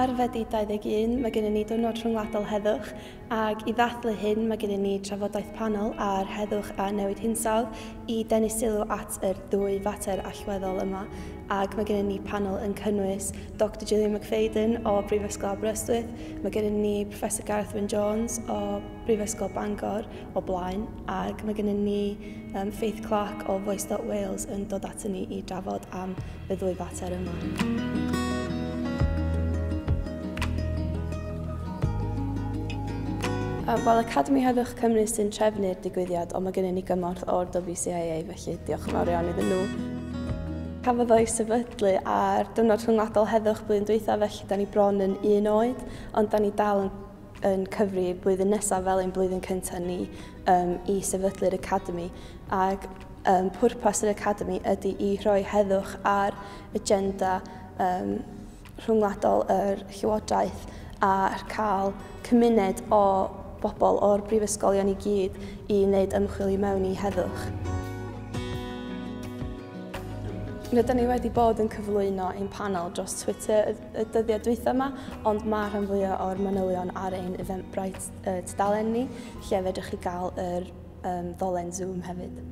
Ar Fedi 21, mae gennym ni Diwrnod Rhyngwladol Heddwch, ac i ddathlu hyn mae gennym ni trafodaeth panel ar heddwch a newid hinsawdd i denu sylw at yr ddwy fater allweddol yma. Ac mae gennym ni panel yn cynnwys Dr Gillian McFadden o Brifysgol Aberystwyth, mae gennym ni Professor Gareth Wyn Jones o Brifysgol Bangor o blaen, ac mae gennym ni Faith Clark o Voice.Wales yn dod ato ni i drafod am y ddwy fater yma. Wel, Academi Heddwch Cymru sy'n trefnu'r digwyddiad, ond mae gennym ni gymorth o'r WCIA, felly diolch yn fawr iawn iddyn nhw. Cafodd o'i sefydlu ar Diwrnod Rhyngwladol Heddwch blwyddyn dwytha, felly da ni bron yn un oed, ond da ni dal yn cyfri blwyddyn nesaf fel ein blwyddyn cyntaf ni i sefydlu'r Academi. Ac pwrpas yr Academi ydy i rhoi heddwch ar agenda rhyngwladol yr Llywodraeth a cael cymuned o bobl o'r brifysgolion i gyd i wneud ymchwil i mewn i heddwch. Rydyn ni wedi bod yn cyflwyno ein panel dros Twitter y dyddiau dwytha yma, ond mae rhan fwyaf o'r manylion ar ein Eventbrite tudalen ni, lle fedrwch chi gael yr ddolen Zoom hefyd.